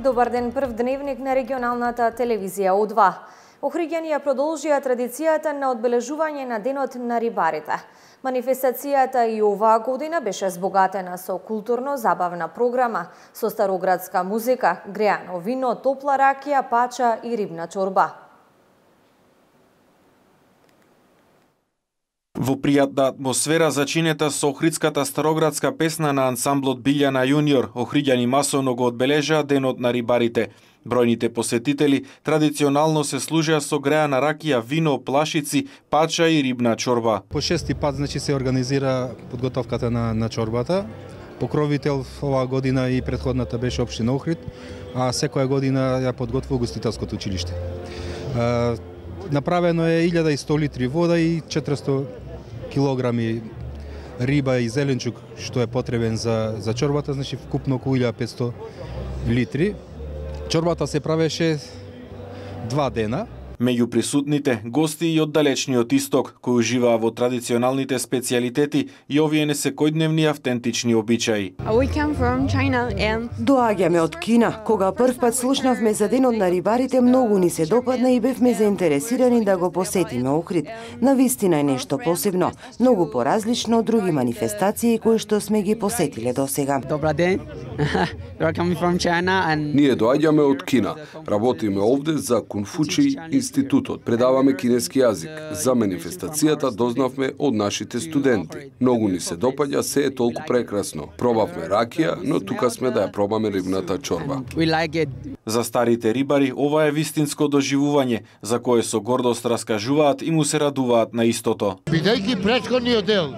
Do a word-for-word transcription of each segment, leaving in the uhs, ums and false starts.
Добар ден, прв дневник на регионалната телевизија О два. Охриѓани ја продолжија традицијата на одбележување на денот на рибарите. Манифестацијата и оваа година беше збогатена со културно-забавна програма, со староградска музика, греано вино, топла ракија, пача и рибна чорба. Во пријатна атмосфера зачинета со охридската староградска песна на ансамблот Билјана Јуниор, охриѓани масовно го одбележаа денот на рибарите. Бројните посетители традиционално се служеа со греана ракија, вино, плашици, пача и рибна чорба. По шести пат значи се организира подготовката на на чорбата. Покровител оваа година и претходната беше општина Охрид, а секоја година ја подготвува Гостителското училиште. Направено е илјада и сто литри вода и четиристо килограми риба и зеленчук што е потребен за за чорбата, значи вкупно околу илјада и петсто литри. Чорбата се правеше два дена. Меѓу присутните гости и од далечниот исток, кои уживаа во традиционалните специјалитети и овие несекојдневни автентични обичаи. And... Доаѓаме од Кина. Кога прв пат слушнавме за денот на рибарите, многу ни се допадна и бевме заинтересирани да го посетиме Охрид. Навистина е нешто посебно, многу поразлично од други манифестации кои што сме ги посетиле досега. Добар ден. And... Ние доаѓаме од Кина. Работиме овде за Конфучи институтот. Предаваме кинески јазик. За манифестацијата дознавме од нашите студенти. Многу ни се допаѓа, се е толку прекрасно. Пробавме ракија, но тука сме да ја пробаме рибната чорба. Like за старите рибари ова е вистинско доживување, за кое со гордост раскажуваат и му се радуваат на истото. Бидејќи претходниот дел,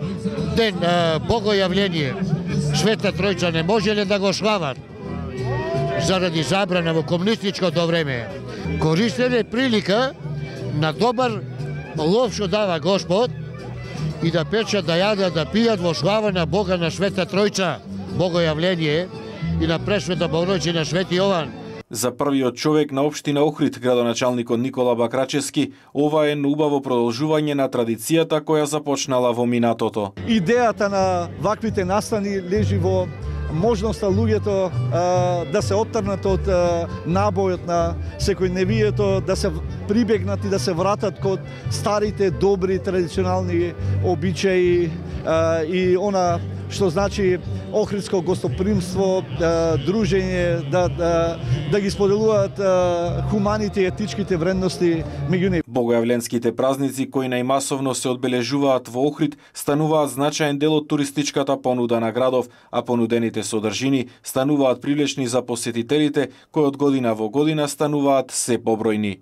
ден а, богојавление, Света Тројца не можеле да го слават заради забрана во комунистичкото време. Користеле прилика на добар лов што дава Господ и да печат, да јадат, да пијат во слава на Бога на Света Тројца, богојавление и на Пресвета Богородица Свети Јован. За првиот човек на општина Охрид, градоначалникот Никола Бакрачевски, ова е убаво продолжување на традицијата која започнала во минатото. Идејата на ваквите настани лежи во можноста луѓето а, да се оттрнат од а, набојот на секојдневието, да се прибегнат и да се вратат код старите, добри, традиционални обичаи а, и она што значи охридско гостопримство, да, дружење, да, да, да ги споделуваат а, хуманите и етичките вредности меѓу нив. Богојавленските празници кои најмасовно се одбележуваат во Охрид стануваат значаен дел од туристичката понуда на градов, а понудените содржини стануваат привлечни за посетителите кои од година во година стануваат се побројни.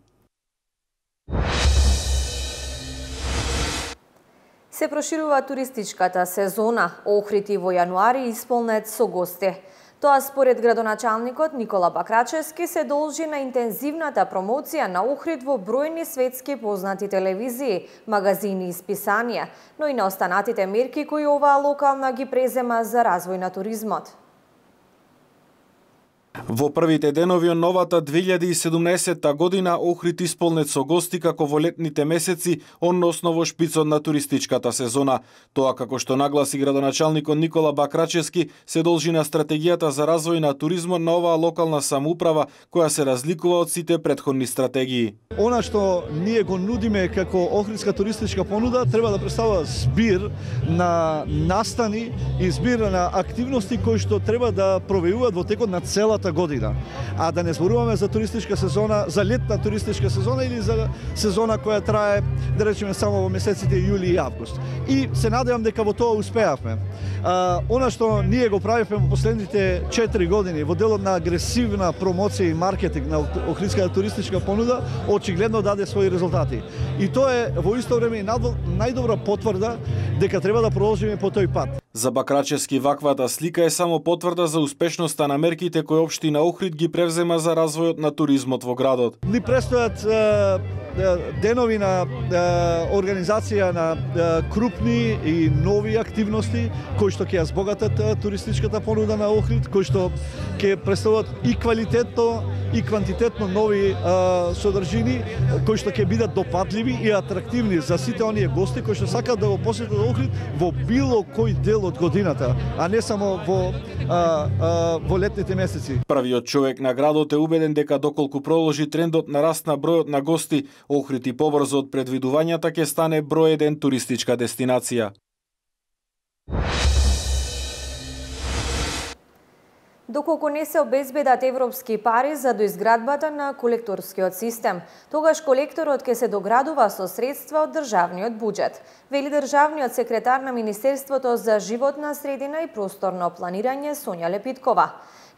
Се проширува туристичката сезона. Охрид и во јануари исполнет со гости. Тоа според градоначалникот Никола Бакрачевски се должи на интензивната промоција на Охрид во бројни светски познати телевизии, магазини и списанија, но и на останатите мерки кои оваа локална ги презема за развој на туризмот. Во првите денови од новата две илјади и седумнаесетта година Охрид исполнет со гости како во летните месеци, односно во шпицот на туристичката сезона. Тоа, како што нагласи градоначалникот Никола Бакрачевски, се должи на стратегијата за развој на туризмот на оваа локална самоуправа, која се разликува од сите претходни стратегии. Она што ние го нудиме како охридска туристичка понуда треба да представува збир на настани и збир на активности кои што треба да провејуваат во текот на целата година. А да не зборуваме за туристичка сезона, за летна туристичка сезона или за сезона која трае, да речеме, само во месеците јули и август. И се надевам дека во тоа успеавме. А, она што ние го правивме во последните четири години во делот на агресивна промоција и маркетинг на охридската туристичка понуда, очигледно даде своји резултати. И тоа е во исто време најдобра потврда дека треба да продолжиме по тој пат. За Бакрачевски ваквата слика е само потврда за успешноста на мерките кои општина Охрид ги превзема за развојот на туризмот во градот. Ни престојат денови на организација на крупни и нови активности кои што ќе ја збогатат туристичката понуда на Охрид, кои што ќе представуваат и квалитетно и квантитетно нови содржини кои што ќе бидат допатливи и атрактивни за сите оние гости кои што сакаат да го посетат Охрид во било кој дел дел од годината, а не само во а, а, во летните месеци. Првиот човек на градот е убеден дека доколку проложи трендот на раст на бројот на гости, Охрид и побрзо од предвидувањата ќе стане број еден туристичка дестинација. Доколку не се обезбедат европски пари за доизградбата на колекторскиот систем, тогаш колекторот ќе се доградува со средства од државниот буџет, вели државниот секретар на Министерството за животна средина и просторно планирање Сонја Лепиткова.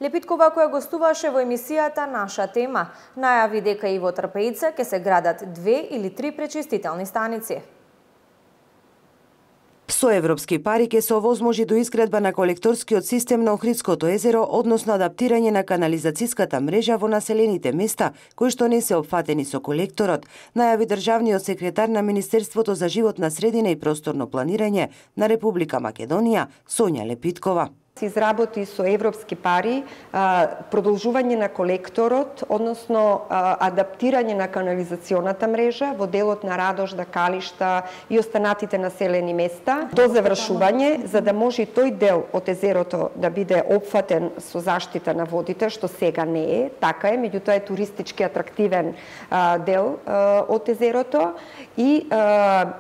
Лепиткова, која гостуваше во емисијата Наша тема, најави дека и во Трпејца ќе се градат две или три пречистителни станици. Со европски пари ќе се овозможи до изградба на колекторскиот систем на Охридското езеро, односно адаптирање на канализацијската мрежа во населените места кои што не се опфатени со колекторот, најави државниот секретар на Министерството за животна средина и просторно планирање на Република Македонија Сонја Лепиткова. Се изработи со европски пари а, продолжување на колекторот, односно а, адаптирање на канализационата мрежа во делот на Радожда, Калишта и останатите населени места до завршување, за да може тој дел од езерото да биде опфатен со заштита на водите, што сега не е, така е, меѓутоа е туристички атрактивен а, дел а, од езерото и а,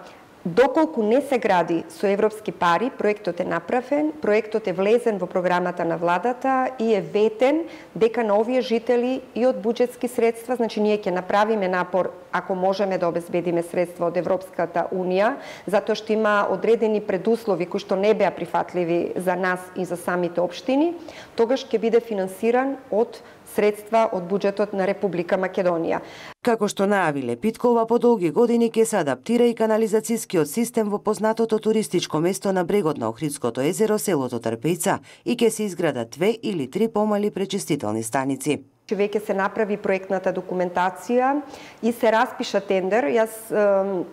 доколку не се гради со европски пари, проектот е направен, проектот е влезен во програмата на владата и е ветен дека на овие жители и од буџетски средства, значи ние ќе направиме напор ако можеме да обезбедиме средства од Европската унија, затоа што има одредени предуслови кои што не беа прифатливи за нас и за самите општини, тогаш ќе биде финансиран од средства од буџетот на Република Македонија. Како што најави Лепиткова, по долги години ќе се адаптира и канализацијскиот систем во познатото туристичко место на брегот на Охридското езеро, селото Трпејца, и ќе се изградат две или три помали пречистителни станици. Веќе се направи проектната документација и се распиша тендер. Јас е,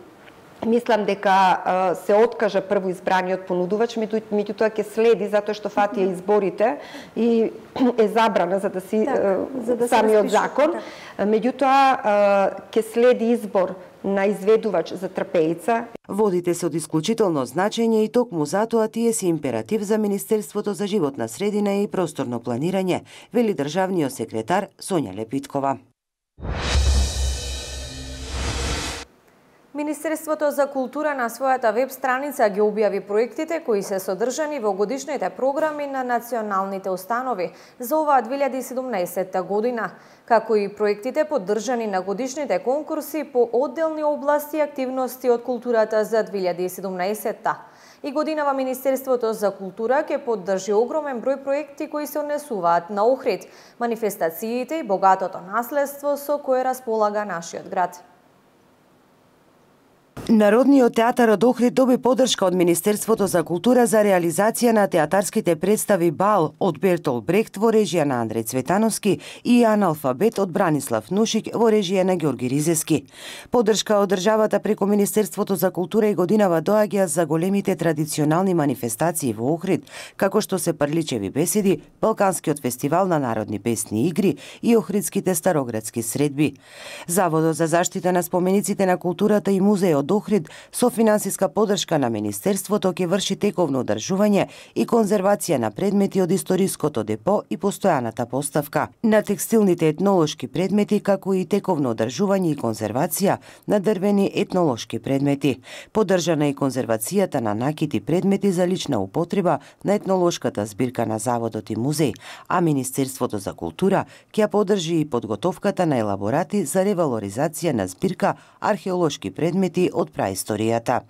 мислам дека е, се откажа прво избраниот понудувач, меѓутоа ќе следи затоа што фатија изборите и е забрана за да си так, за да самиот закон. Меѓутоа ќе следи избор на изведувач за Трпејца. Водите се од исклучително значење и токму затоа тие се императив за Министерството за животна средина и просторно планирање, вели државниот секретар Сонја Лепиткова. Министерството за култура на својата веб страница ги објави проектите кои се содржани во годишните програми на националните установи за оваа две илјади и седумнаесетта година, како и проектите поддржани на годишните конкурси по одделни области и активности од културата за две илјади и седумнаесетта. И годинава Министерството за култура ќе поддржи огромен број проекти кои се однесуваат на Охрид, манифестациите и богатото наследство со кое располага нашиот град. Народниот театар од Охрид доби поддршка од Министерството за култура за реализација на театарските представи Бал од Бертол Брехт во режија на Андреј Цветановски и Аналфабет од Бранислав Нушик во режија на Ѓорги Ризевски. Поддршка од државата преку Министерството за култура и годинава доаѓа за големите традиционални манифестации во Охрид, како што се Прличеви беседи, Балканскиот фестивал на народни песни и игри и Охридските староградски средби. Заводот за заштита на спомениците на културата и музеот Охрид со финансиска поддршка на Министерството ќе врши тековно одржување и конзервација на предмети од историското депо и постојаната поставка на текстилните етнолошки предмети, како и тековно одржување и конзервација на дрвени етнолошки предмети. Поддржана и конзервацијата на накити предмети за лична употреба на етнолошката збирка на Заводот и музеј, а Министерството за култура ќе поддржи и подготовката на елаборати за ревалоризација на збирка археолошки предмети од праисторијата.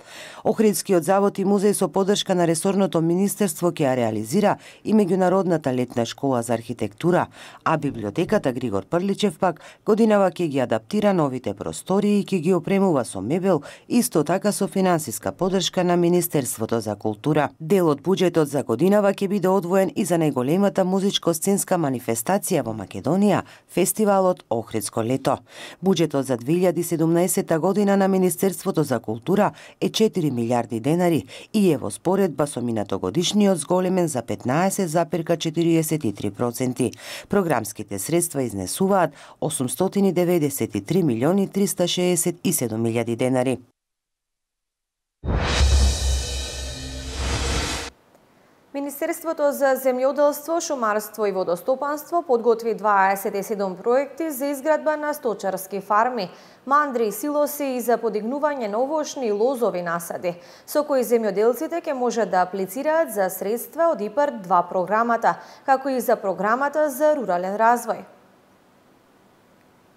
Охридскиот завод и музеј со поддршка на ресорното министерство ќе ја реализира и меѓународната летна школа за архитектура, а библиотеката Григор Прличев пак годинава ќе ги адаптира новите простории и ќе ги опремува со мебел, исто така со финансиска поддршка на Министерството за култура. Дел од буџетот за годинава ќе биде одвоен и за најголемата музичко-сценска манифестација во Македонија, фестивалот Охридско лето. Буџетот за две илјади и седумнаесетта година на Министерството за култура е четири милиарди денари и е во споредба со минатогодишниот зголемен за петнаесет запирка четириесет и три проценти. Програмските средства изнесуваат осумстотини деведесет и три милиони триста шеесет и седум илјади денари. Министерството за земјоделство, шумарство и водостопанство подготви дваесет и седум проекти за изградба на сточарски фарми, мандри, силоси и за подигнување на овошни и лозови насади, со кои земјоделците ќе можат да аплицираат за средства од ИПАРД два програмата, како и за програмата за рурален развој.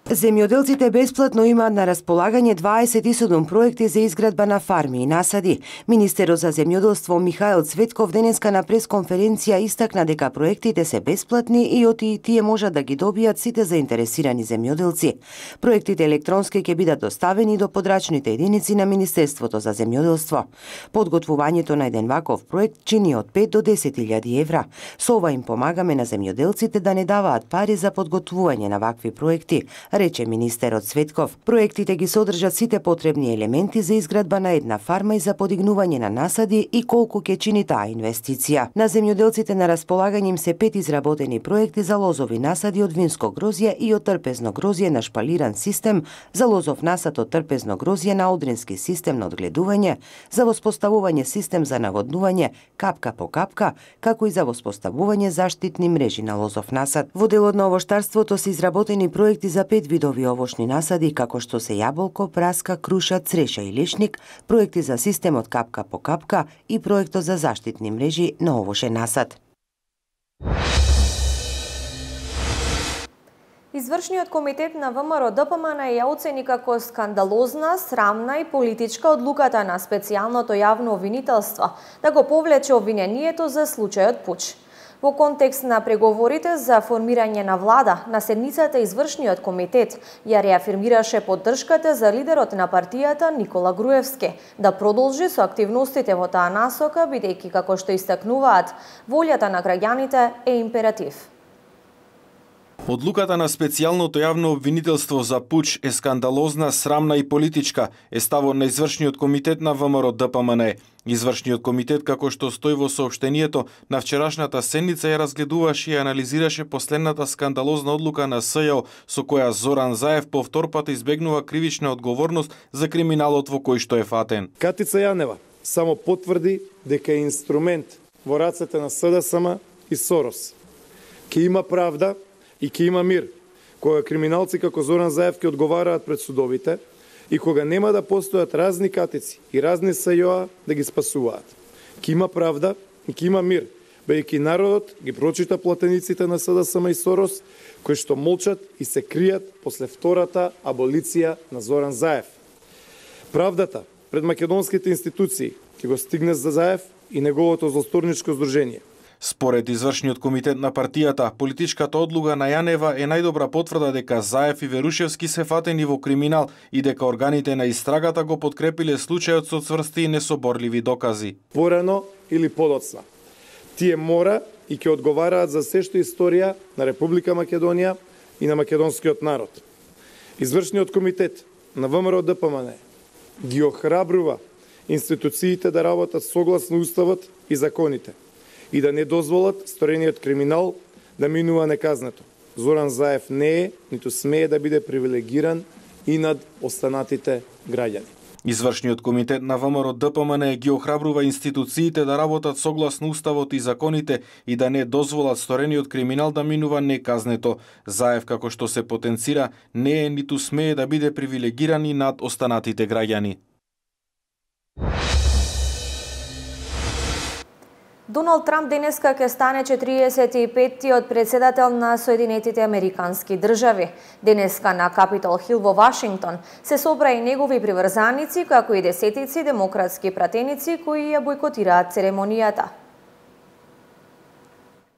Земјоделците бесплатно имаат на располагање дваесет и седум проекти за изградба на фарми и насади. Министерот за земјоделство Михаил Цветков денеска на пресконференција истакна дека проектите се бесплатни и оти тие можат да ги добијат сите заинтересирани земјоделци. Проектите електронски ќе бидат доставени до подрачните единици на Министерството за земјоделство. Подготвувањето на еден ваков проект чини од пет до десет илјади евра. Со ова им помагаме на земјоделците да не даваат пари за подготвување на вакви проекти, рече министерот Цветков. Проектите ги содржат сите потребни елементи за изградба на една фарма и за подигнување на насади и колку ќе чини таа инвестиција. На земјоделците на располагање им се пет изработени проекти за лозови насади од винско грозје и од трпезно грозје на шпалиран систем, за лозов насад од трпезно грозје на одрински систем на одгледување, за воспоставување систем за наводнување капка по капка, како и за воспоставување заштитни мрежи на лозов насад. Во делот на овоштарството се изработени проекти за пет видови овошни насади, како што се јаболко, праска, круша, цреша и лешник, проекти за системот капка по капка и проектот за заштитни мрежи на овошен насад. Извршниот комитет на ВМРО Д П М Н ја оцени како скандалозна, срамна и политичка одлуката на специјалното јавно обвинителство да го повлече обвинението за случајот Пуч. Во контекст на преговорите за формирање на влада, на седницата Извршниот комитет ја реафирмираше поддршката за лидерот на партијата Никола Груевски да продолжи со активностите во таа насока, бидејќи, како што истакнуваат, волјата на граѓаните е императив. Одлуката на специјалното јавно обвинителство за пуч е скандалозна, срамна и политичка, е ставот на Извршниот комитет на ВМРО Д П М Н. Извршниот комитет, како што стои во соопштението, на вчерашната седница ја разгледуваше и анализираше последната скандалозна одлука на С Ј О со која Зоран Заев повтор пат избегнува кривична одговорност за криминалот во кој што е фатен. Катица Јанева само потврди дека е инструмент во рацете на С Д С М и Сорос. Ке има правда и ке има мир, кога криминалци како Зоран Заев ќе одговараат пред судовите и кога нема да постојат разни катици и разни С Ј О да ги спасуваат. Ке има правда и ке има мир, бејќи народот ги прочита платениците на С Д С М и Сорос, кои што молчат и се кријат после втората аболиција на Зоран Заев. Правдата пред македонските институции ќе го стигне за Заев и неговото злосторничко здружение. Според Извршниот комитет на партијата, политичката одлука на Јанева е најдобра потврда дека Заев и Верушевски се фатени во криминал и дека органите на истрагата го подкрепиле случајот со цврсти и несоборливи докази. Порано или подоцна, тие мора и ќе одговараат за се што историја на Република Македонија и на македонскиот народ. Извршниот комитет на ВМРО Д П М Н ги охрабрува институциите да работат согласно уставот и законите и да не дозволат сторениот криминал да минува неказнето. Зоран Заев не е, ниту смее да биде привилегиран и над останатите граѓани. Извршниот комитет на ВМРО Д П М Н ги охрабрува институциите да работат согласно уставот и законите и да не дозволат сторениот криминал да минува неказнето. Заев, како што се потенцира, не е ниту смее да биде привилегиран и над останатите граѓани. Доналд Трамп денеска ќе стане четириесет и петтиот председател на Соединетите Американски држави. Денеска на Капитол Хил во Вашингтон се собра и негови приврзаници, како и десетици демократски пратеници кои ја бойкотираат церемонијата.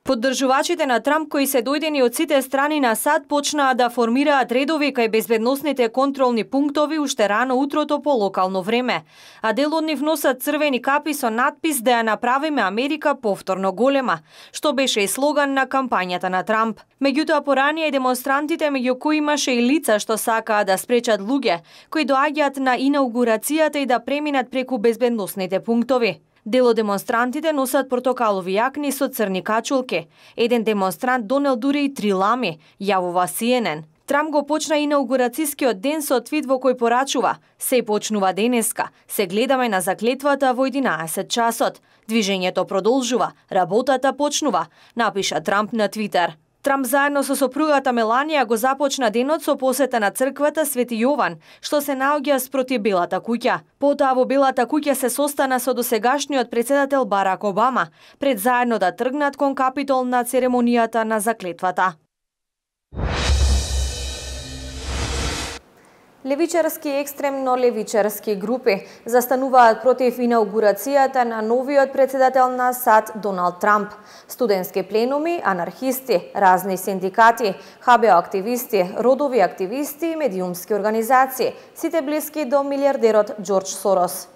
Поддржувачите на Трамп, кои се дојдени од сите страни на САД, почнаа да формираат редови кај безбедносните контролни пунктови уште рано утрото по локално време. А дел од нив носат црвени капи со надпис да ја направиме Америка повторно голема, што беше и слоган на кампањата на Трамп. Меѓутоа поранија и демонстрантите, меѓу кои имаше и лица што сакаа да спречат луѓе кои доаѓаат на инаугурацијата и да преминат преку безбедносните пунктови. Дел од демонстрантите носат портокалови јакни со црни качулки. Еден демонстрант донел дури и три лами, јавува Си Ен Ен. Трамп го почна инаугурацијскиот ден со твит во кој порачува: "Се почнува денеска. Се гледаме на заклетвата во единаесет часот. Движењето продолжува. Работата почнува", напиша Трамп на Твитер. Трамп заедно со сопругата Меланија го започна денот со посета на црквата Свети Јован, што се наоѓа спроти Белата куќа. Потоа во Белата куќа се состана со досегашниот претседател Барак Обама, пред заедно да тргнат кон Капитол на церемонијата на заклетвата. Левичарски и екстремно левичарски групи застануваат против инаугурацијата на новиот претседател на САД Доналд Трамп. Студентски пленуми, анархисти, разни синдикати, ха бе о активисти, родови активисти и медиумски организации, сите блиски до милиардерот Џорџ Сорос.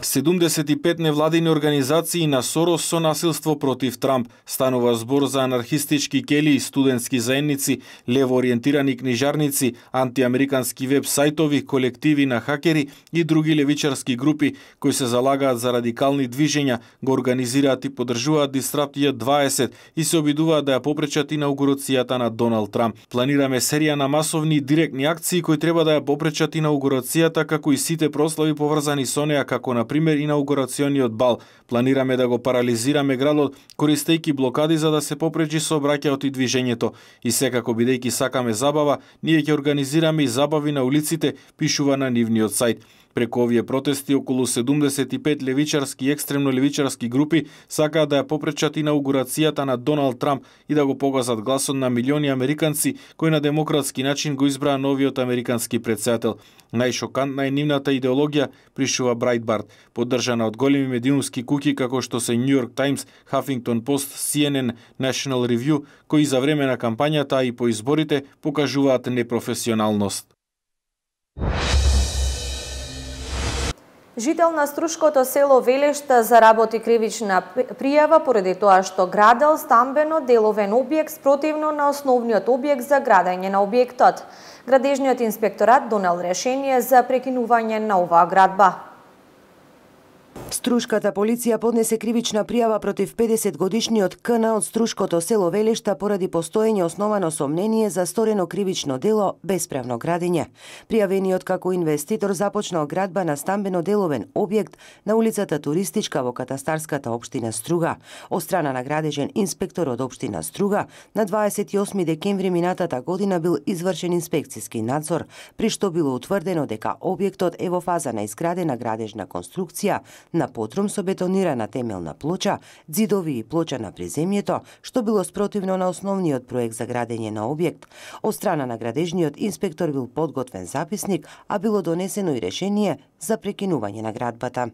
седумдесет и пет невладини организации на Сорос со насилство против Трамп. Станува збор за анархистички келии, студентски заедници, левоориентирани книжарници, антиамерикански веб сајтови, колективи на хакери и други левичарски групи кои се залагаат за радикални движења, го организираат и поддржуваат Disrupt дваесет и се обидуваат да ја попречат инаугурацијата на Доналд Трамп. Планираме серија на масовни и директни акции кои треба да ја попречат инаугурацијата, како и сите прослави поврзани со неа, како на пример инаугурациониот бал. Планираме да го парализираме градот користејќи блокади за да се попречи сообраќајот и движењето. И секако бидејќи сакаме забава, ние ќе организираме и забави на улиците, пишува на нивниот сајт. Преку овие протести, околу седумдесет и пет левичарски и екстремно левичарски групи сакаат да ја попречат инаугурацијата на Доналд Трамп и да го погазат гласот на милиони американци кои на демократски начин го избраа новиот американски претседател. Најшокантна е нивната идеологија, пришува Брайтбарт, поддржана од големи медиумски куќи како што се New York Times, Huffington Post, Си Ен Ен, National Review, кои за време на кампањата и по изборите покажуваат непрофесионалност. Жител на струшкото село Велешта заработи кривична пријава поради тоа што градел стамбено деловен објект спротивно на основниот објект за градење на објектот. Градежниот инспекторат донел решение за прекинување на оваа градба. Струшката полиција поднесе кривична пријава против педесет годишниот К Н од струшкото село Велешта поради постоење основано сомнение за сторено кривично дело бесправно градење. Пријавениот како инвеститор започнал градба на стамбено деловен објект на улицата Туристичка во катастарската општина Струга. Од страна на градежен инспектор од општина Струга, на дваесет и осми декември минатата година бил извршен инспекцијски надзор, при што било утврдено дека објектот е во фаза на изградена градежна конструкција на потрум со бетонирана темелна плоча, ѕидови и плоча на приземјето, што било спротивно на основниот проект за градење на објект. Од страна на градежниот инспектор бил подготвен записник, а било донесено и решение за прекинување на градбата.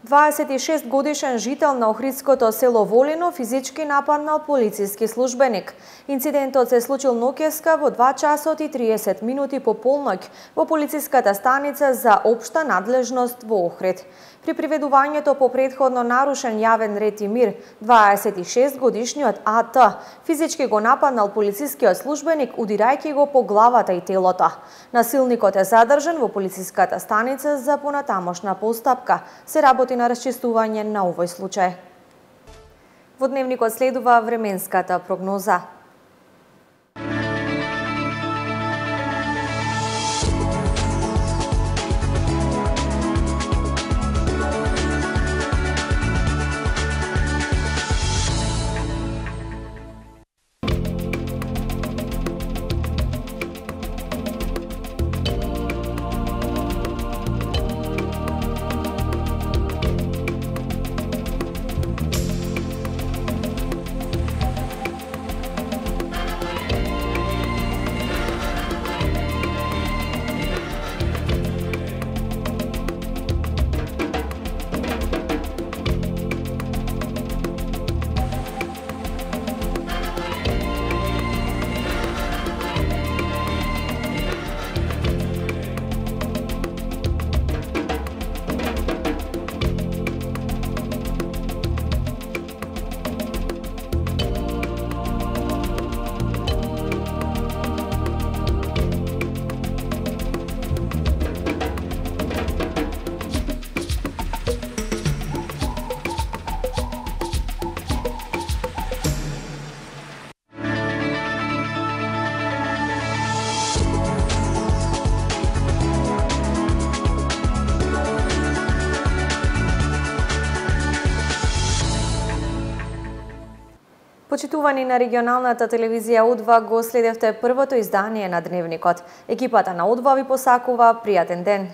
дваесет и шест годишен жител на охридското село Волино физички нападнал полициски службеник. Инцидентот се случил ноќеска во два часот и триесет минути по полноќ во полициската станица за општа надлежност во Охрид. При приведувањето по претходно нарушен јавен ред и мир, дваесет и шест годишниот А Т физички го нападнал полицискиот службеник удирајќи го по главата и телото. Насилникот е задржан во полициската станица за понатамошна постапка. Се работи на расчистување на овој случај. Во дневникот следува временската прогноза. Почитувани на регионалната телевизија О два го следевте првото издание на Дневникот. Екипата на О два ви посакува пријатен ден.